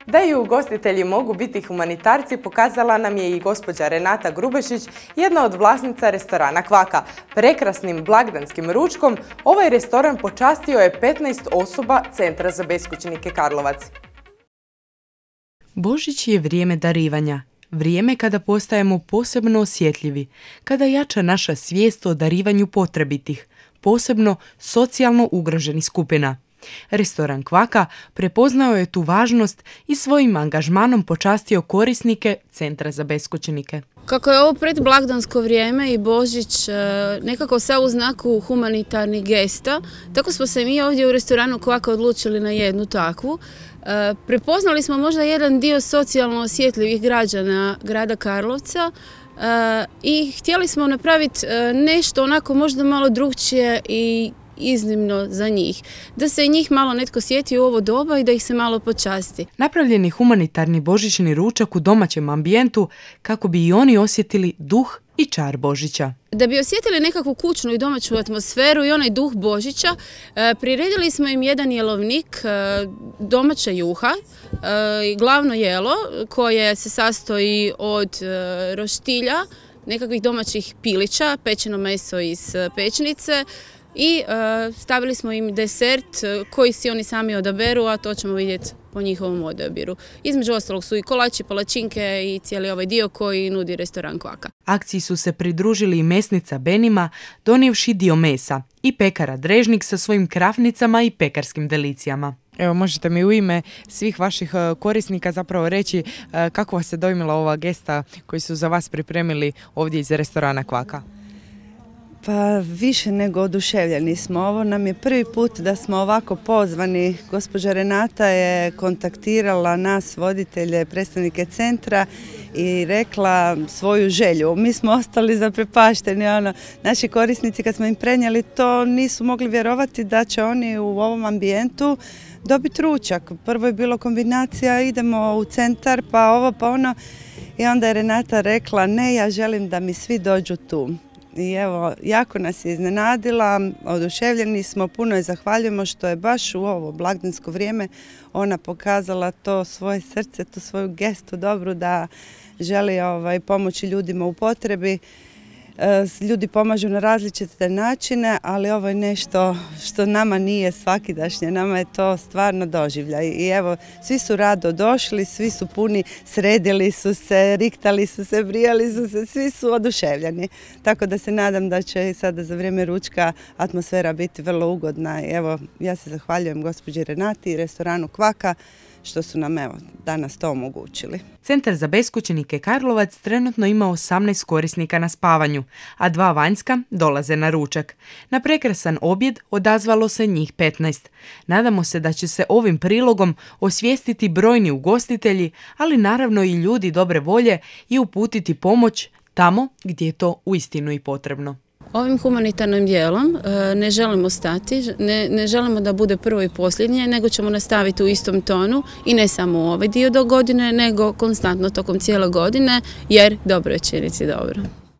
Da i ugostitelji mogu biti humanitarci pokazala nam je i gospođa Renata Grubešić, jedna od vlasnica restorana Kvaka. Prekrasnim blagdanskim ručkom ovaj restoran počastio je 15 osoba Centra za beskućnike Karlovac. Božić je vrijeme darivanja. Vrijeme kada postajemo posebno osjetljivi, kada jača naša svijest o darivanju potrebitih, posebno socijalno ugroženih skupina. Restoran Kvaka prepoznao je tu važnost i svojim angažmanom počastio korisnike Centra za beskućnike. Kako je ovo predblagdansko vrijeme i Božić nekako sve u znaku humanitarnih gesta, tako smo se mi ovdje u restoranu Kvaka odlučili na jednu takvu. Prepoznali smo možda jedan dio socijalno osjetljivih građana grada Karlovca i htjeli smo napraviti nešto onako možda malo drukčije i iznimno za njih. Da se i njih malo netko sjeti u ovo doba i da ih se malo počasti. Napravljen je humanitarni božićni ručak u domaćem ambijentu kako bi i oni osjetili duh i čar Božića. Da bi osjetili nekakvu kućnu i domaću atmosferu i onaj duh Božića, priredili smo im jedan jelovnik domaće juha, glavno jelo koje se sastoji od roštilja, nekakvih domaćih pilića, pečeno meso iz pečnice, i stavili smo im desert koji si oni sami odaberu, a to ćemo vidjeti po njihovom odabiru. Između ostalog su i kolači, palačinke i cijeli ovaj dio koji nudi restoran Kvaka. Akciji su se pridružili i mesnica Benima, donijevši dio mesa, i pekara Drežnik sa svojim krafnicama i pekarskim delicijama. Evo, možete mi u ime svih vaših korisnika zapravo reći kako vas se dojmila ova gesta koju su za vas pripremili ovdje iz restorana Kvaka? Pa više nego oduševljeni smo. Ovo nam je prvi put da smo ovako pozvani. Gospođa Renata je kontaktirala nas, voditelje, predstavnike centra i rekla svoju želju. Mi smo ostali zaprepašteni. Naši korisnici kad smo im prenijeli to nisu mogli vjerovati da će oni u ovom ambijentu dobiti ručak. Prvo je bilo kombinacija, idemo u centar, pa ovo, pa ono. I onda je Renata rekla, ne, ja želim da mi svi dođu tu. I evo, jako nas je iznenadila, oduševljeni smo, puno je zahvaljujemo što je baš u ovo blagdansko vrijeme ona pokazala to svoje srce, tu svoju gestu dobru da želi pomoći ljudima u potrebi. Ljudi pomažu na različite načine, ali ovo je nešto što nama nije svakidašnje, nama je to stvarno doživljaj. I evo, svi su rado došli, svi su puni, sredili su se, riktali su se, brijali su se, svi su oduševljeni. Tako da se nadam da će sada za vrijeme ručka atmosfera biti vrlo ugodna. I evo, ja se zahvaljujem gospođi Renati i restoranu Kvaka što su nam danas to omogućili. Centar za beskućnike Karlovac trenutno ima 18 korisnika na spavanju, a 2 vanjska dolaze na ručak. Na prekrasan objed odazvalo se njih 15. Nadamo se da će se ovim prilogom osvijestiti brojni ugostitelji, ali naravno i ljudi dobre volje i uputiti pomoć tamo gdje je to uistinu i potrebno. Ovim humanitarnim dijelom ne želimo stati, ne želimo da bude prvo i posljednje, nego ćemo nastaviti u istom tonu i ne samo u ovaj dio do godine, nego konstantno tokom cijele godine, jer dobro je činiti dobro.